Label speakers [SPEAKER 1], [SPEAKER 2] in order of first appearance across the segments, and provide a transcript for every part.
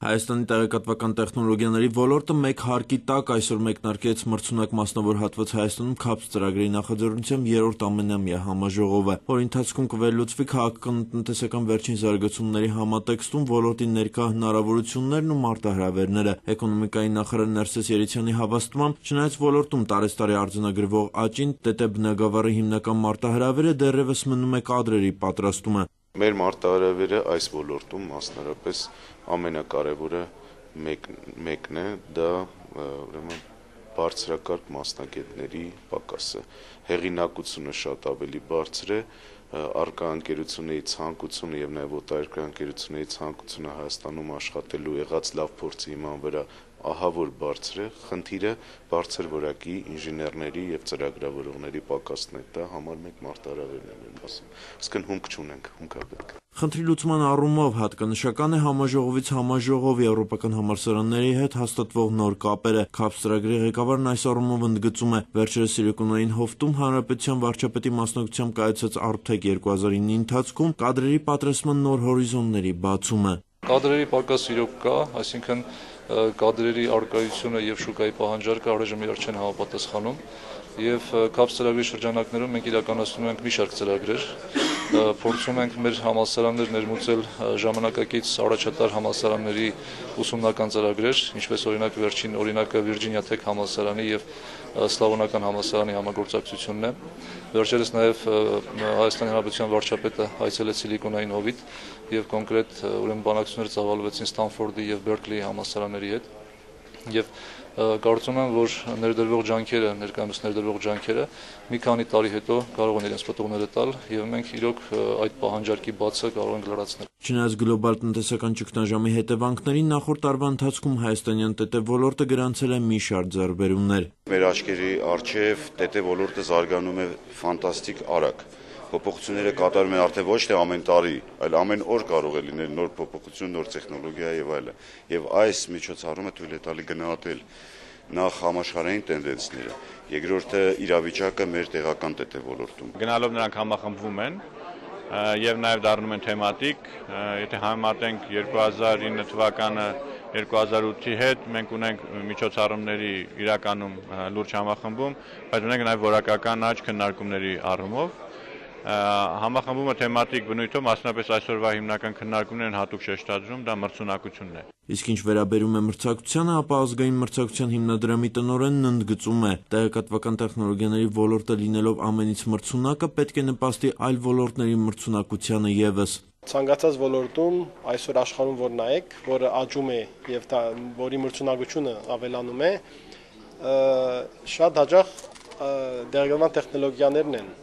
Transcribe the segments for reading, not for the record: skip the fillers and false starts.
[SPEAKER 1] Հայաստանի տեղեկատվական տեխնոլոգիաների ոլորտը մեկ հարկի տակ այսօր մեկնարկեց մրցունակ մասնավոր հատված Հայաստանում CAPS ծրագրի նախաձեռնությամբ երրորդ ամենամյա համաժողովը, որի ընթացքում կվերլուծվի քաղաքական-տնտեսական վերջին զարգացումների համատեքստում ոլորտի ներկա հնարավորություններն ու մարտահրավերները։ Էկոնոմիկայի նախարար Ներսես Երիցյանի հավաստմամբ, չնայած ոլորտում տարեստարի արձանագրվող աճին, ՏՏ բնագավառի հիմնական մարտահրավերը դեռևս մնում է կադրերի պատրաստումը։
[SPEAKER 2] Մեր մարտահրավերը այս ոլորտում մասնարարպես ամենակարևորը մեկն է, դա ուրեմն բարձրակարգ մասնագետների պակասը։ Հեղինակությունը շատ ավելի բարձր է, առկա ընկերությունների ցանկությունը եւ նաեւ օտարերկրյա ընկերությունների ցանկությունը Հայաստանում աշխատելու եղած լավ փորձի հիման վրա ահա որ բարձր է, խնդիրը բարձր որակի ինժեներների եւ ծրագրավորողների պակասն է, դա համար մեկ մարտահրավերն է մեր մասում, այսինքն հումք չունենք, հումք է պետք։
[SPEAKER 1] Խնդրի լուծման առումով հատկանշական է համաժողովից համաժողով եվրոպական համալսարանների հետ հաստատվող նոր կապերը։ CAPS ծրագրի ղեկավարն այս առումով ընդգծում է, վերջերս Սիլիկոնային հովտում Հանրապետության վարչապետի մասնակցությամբ կայացած Arptech 2009-ի ընթացքում կադրերի պատրաստման նոր հորիզոնների բացումը։
[SPEAKER 3] Կադրերի պակաս իրոք կա, այսինքն կադրերի արկայությունը եւ շուկայի պահանջարկը առայժմ իրար չեն համապատասխանում եւ CAPS ծրագրի շրջանակներում մենք իրականացնում ենք մի շարք ծրագրեր, փորձում ենք մեր համալսարաններ ներմուծել ժամանակակից առաջատար համալսարանների ուսումնական ծրագրեր, ինչպես օրինակ վերջին օրինակը Վիրջինիա Թեք համալսարանի եւ Սլավոնական համալսարանի համագործակցությունն է։ Վերջերս նաեւ Հայաստանի Հանրապետության վարչապետը այցելեց Սիլիկոնային հովիտ եւ կոնկրետ ուրեմն բանակցություններ ծավալվեցին Ստանֆորդի եւ Բերկլիի համալսարանների հետ եւ կարծում եմ, որ ներկայումս ներդրվող ջանքերը մի քանի տարի հետո կարող են իրենց պտուղները տալ եւ մենք իրոք այդ պահանջարկի բացը կարող ենք լրացնել։
[SPEAKER 1] Չնայած գլոբալ տնտեսական ճգնաժամի հետևանքներին նախորդ տարվա ընթացքում հայաստանյան ՏՏ ոլորտը գրանցել է մի շարք ձեռքբերումներ։
[SPEAKER 4] Մեր աչքերի առջև ՏՏ ոլորտը զարգանում է ֆանտաստիկ արագ։ Փոփոխությունները կատարում են արդեն ոչ թե ամեն տարի, այլ ամեն օր կարող է լինել նոր փոփոխություն, նոր տեխնոլոգիա եւ այլն։ Եվ այս միջոցառումը թույլ է տալի գնահատել նախ համաշխարհային տենդենսները, երկրորդը իրավիճակը մեր տեղական ՏՏ ոլորտում։
[SPEAKER 5] Գնալով նրանք համախմբվում են եւ նաեւ դառնում են թեմատիկ, եթե համեմատենք 2009 թվականը 2008-ի հետ, մենք ունենք միջոցառումների իրականում լուրջ համախմբում, բայց ունենք նաեւ որակական աճ քննարկումների առումով։ Համախմբումը թեմատիկ բնույթով, մասնապես այսօրվա հիմնական քննարկումներն հատուկ շեշտադրում, դա մրցունակությունն է։
[SPEAKER 1] Իսկ ինչ վերաբերում է մրցակցությանը, ապա ազգային մրցակցության հիմնադրամի տնօրենն ընդգծում է, տեղեկատվական տեխնոլոգիաների ոլորտը լինելով ամենից մրցունակը պետք է նպաստի այլ ոլորտների մրցունակությանը եւս։
[SPEAKER 6] Ցանկացած ոլորտում այսօր աշխարհում որ նայեք, որը աճում է եւ որի մրցունակությունը ավելանում է, շատ հաճախ տեղեկատվական տեխնոլոգիաներն են,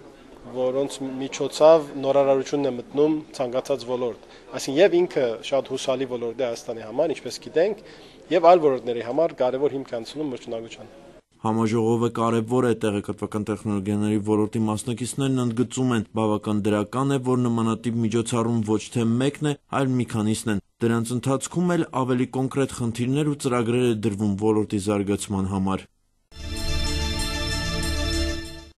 [SPEAKER 6] որոնց միջոցով նորարարությունն է մտնում ցանկացած ոլորտ։ Այսինքն եւ ինքը շատ հուսալի ոլորտ է Հայաստանի համար, ինչպես գիտենք, եւ այլ ոլորտների համար կարեւոր հիմք անցնում մրցունակության։
[SPEAKER 1] Համաժողովը կարևոր է, տեղեկատվական տեխնոլոգիաների ոլորտի մասնակիցներն ընդգծում են, բավական դրական է, որ նմանատիպ միջոցառում ոչ թե մեկն է, այլ մի քանիսն են։ Դրանց ընթացքում էլ ավելի կոնկրետ խնդիրներ ու ծրագրեր է դրվում ոլորտի զարգացման համար։